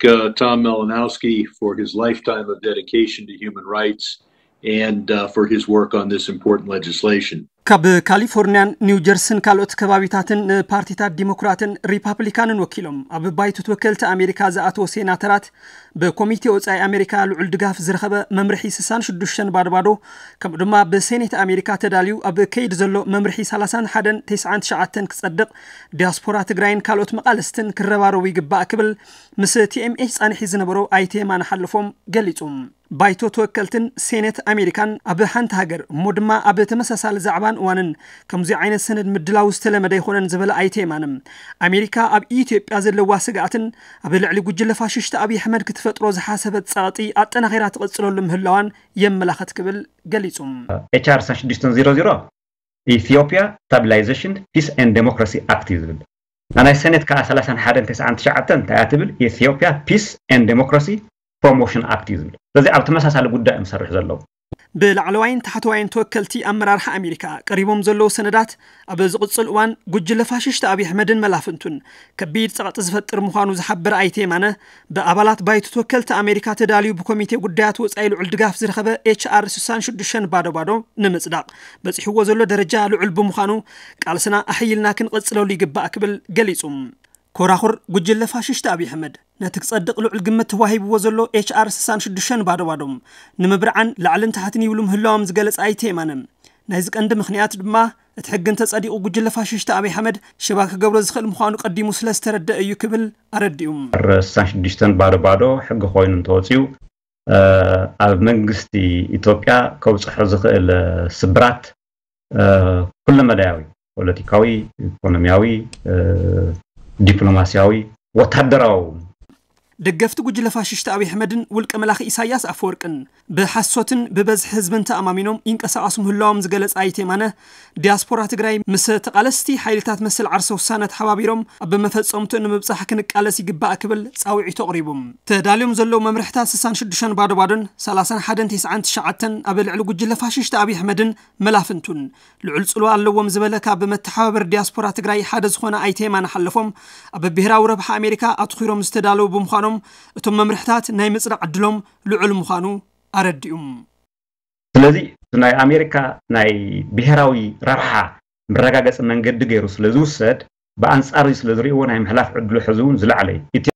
uh, Tom Malinowski for his lifetime of dedication to human rights and uh, for his work on this important legislation. ካብ ካሊፎርኒያን ኒው ጀርሲን ካልኦት ከባቢታትን ንፓርቲታት ዲሞክራትን ሪፓብሊካንን ወኪሎም ኣብ ባይቶ ተወከልቲ ኣሜሪካ ዝኣተወ ሴናተራት ብኮሚቴ ወፃኢ ኣሜሪካ ልዑል ድጋፍ ዝረኸበ መምርሒ ስሳን ሽዱሽተን ባዶ ባዶ ከምኡ ድማ ብሴኔት ኣሜሪካ ተዳልዩ ኣብ ከይድ ዘሎ መምርሒ ሰላሳን ሓደን ተስዓን ትሽዓተን ክፀድቕ ዲያስፖራ ትግራይን ካልኦት መቓልስትን ክረባረቡ ይግባእ ክብል ምስ ቲኤምኤች ፃንሒ ዝነበሮ ኣይተ የማነ ሓለፎም ገሊፁ። ባይቶ ተወከልትን ሴኔት ኣሜሪካን ኣብ ሓንቲ ሃገር እሞ ድማ ኣብ ተመሳሳሊ ዛዕባን እዋንን ከምዚ ዓይነት ሰነድ ምድላው ዝተለመደ ኣይኮነን ዝበለ ኣይተ የማነ ኣሜሪካ ኣብ ኢትዮጵያ ዘለዋ ስግኣትን ኣብ ልዕሊ ጉጅለ ፋሽስት ኣብይ ኣሕመድ ክትፈጥሮ ዝሓሰበት ፀቕጢ ኣጠናኺራ ትቕፅለሉ ምህላዋን የመላኽት ክብል ገሊፁ። ኤችኣር ስሳን ሽዱሽተን ዜሮ ዜሮ ኢትዮጵያ ስታቢላይዜሽን ፒስ ኤንድ ዴሞክራሲ ኣክት እዩ ዝብል። ናይ ሴኔት ከዓ ሰላሳን ሓደን ተስዓን ትሽዓተን እንታይ እያ ትብል? ኢትዮጵያ ፒስ ኤንድ ዴሞክራሲ ፕሮሞሽን ኣክት እዩ ዝብል። ስለዚ ኣብ ተመሳሳሊ ጉዳይ እዮም ዝሰርሑ ዘለዉ። ብላዕለዋይን ታሕተዋይን ተወከልቲ ኣመራርሓ ኣሜሪካ ቀሪቦም ዘለዉ ሰነዳት ኣብ ዝቕፅል እዋን ጉጅለ ፋሽስት ኣብይ ኣሕመድን መላፍንቱን ከቢድ ፀቕጢ ዝፈጥር ምዃኑ ዝሓበረ ኣይተ የማነ ብኣባላት ባይቶ ተወከልቲ ኣሜሪካ ተዳልዩ ብኮሚቴ ጉዳያት ወፃኢ ልዑል ድጋፍ ዝረኸበ ኤችኣር ስሳን ሽዱሽተን ባዶ ባዶ ንምፅዳቕ በፂሕዎ ዘሎ ደረጃ ልዑል ብምዃኑ ቃልስና ኣሕይልና ክንቕፅለሉ ይግባእ ክብል ገሊፁ። ኮራኹር ጉጅለ ፋሽስት ኣብይ ኣሕመድ ነቲ ክጸድቕ ልዑል ግምት ተዋሂብዎ ዘሎ ኤችኣር ስሳን ሽዱሽተን ባዶ ባዶ ንምብርዓን ላዕልን ታሕትን ይብሉ ምህላዎም ዝገለጸ ኣይተ የማነ ናይዚ ቀንዲ ምኽንያት ድማ እቲ ሕጊ እንተጸዲቑ ጉጅለ ፋሽስት ኣብይ ኣሕመድ ሽባ ክገብሮ ዝኽእል ምዃኑ ቀዲሙ ስለ ዝተረደአ እዩ ክብል ኣረዲኡ። ስሳን ሽዱሽተን ባዶ ባዶ ሕጊ ኮይኑ እንተወፅዩ ኣብ መንግስቲ ኢትዮጵያ ከብፅሖ ዝኽእል ስብራት ኩለመዳያዊ ፖለቲካዊ፣ ኢኮኖሚያዊ፣ ዲፕሎማሲያዊ፣ ወታደራዊ። ደገፍቲ ጉጅለ ፋሽስት ኣብይ ኣሕመድን ውልቀ መላኺ ኢሳያስ ኣፈወርቅን ብሓሶትን ብበዝሒ ህዝብን ተኣማሚኖም ይንቀሳቐሱ ምህላዎም ዝገለጸ ኣይተ የማነ ዲያስፖራ ትግራይ ምስ ተቓለስቲ ሓይልታት መሰል ዓርሰ ውሳነ ተሓባቢሮም ኣብ መፈጸምትኡ ንምብጻሕ ክንቃለስ ይግባእ ክብል ጻውዒቱ ኣቕሪቡ። ተዳልዮም ዘለዉ መምርሕታት ስሳን ሽዱሽተን ባዶ ባዶን ሰላሳን ሓደን ተስዓን ትሽዓተን ኣብ ልዕሊ ጉጅለ ፋሽስት ኣብይ ኣሕመድን መላፍንቱን ልዑል ፅልዋ ኣለዎም ዝበለ ካብ መተሓባበር ዲያስፖራ ትግራይ ሓደ ዝኾነ ኣይተ የማነ ሓለፎም ኣብ ብሄራዊ ረብሓ ኣሜሪካ ኣትኺሮም ዝተዳለዉ ብምዃኖም እቶም መምርሕታት ናይ ምፅዳቕ ዕድሎም ልዑል ምዃኑ ኣረዲኡ። ስለዚ ናይ ኣሜሪካ ናይ ብሄራዊ ረብሓ መረጋገፂ መንገዲ ገይሩ ስለ ዝውሰድ ብኣንፃር ስለ ዝርእይዎ ናይ ምሕላፍ ዕድሉ ሕዚ እውን ዝለዓለ እዩ።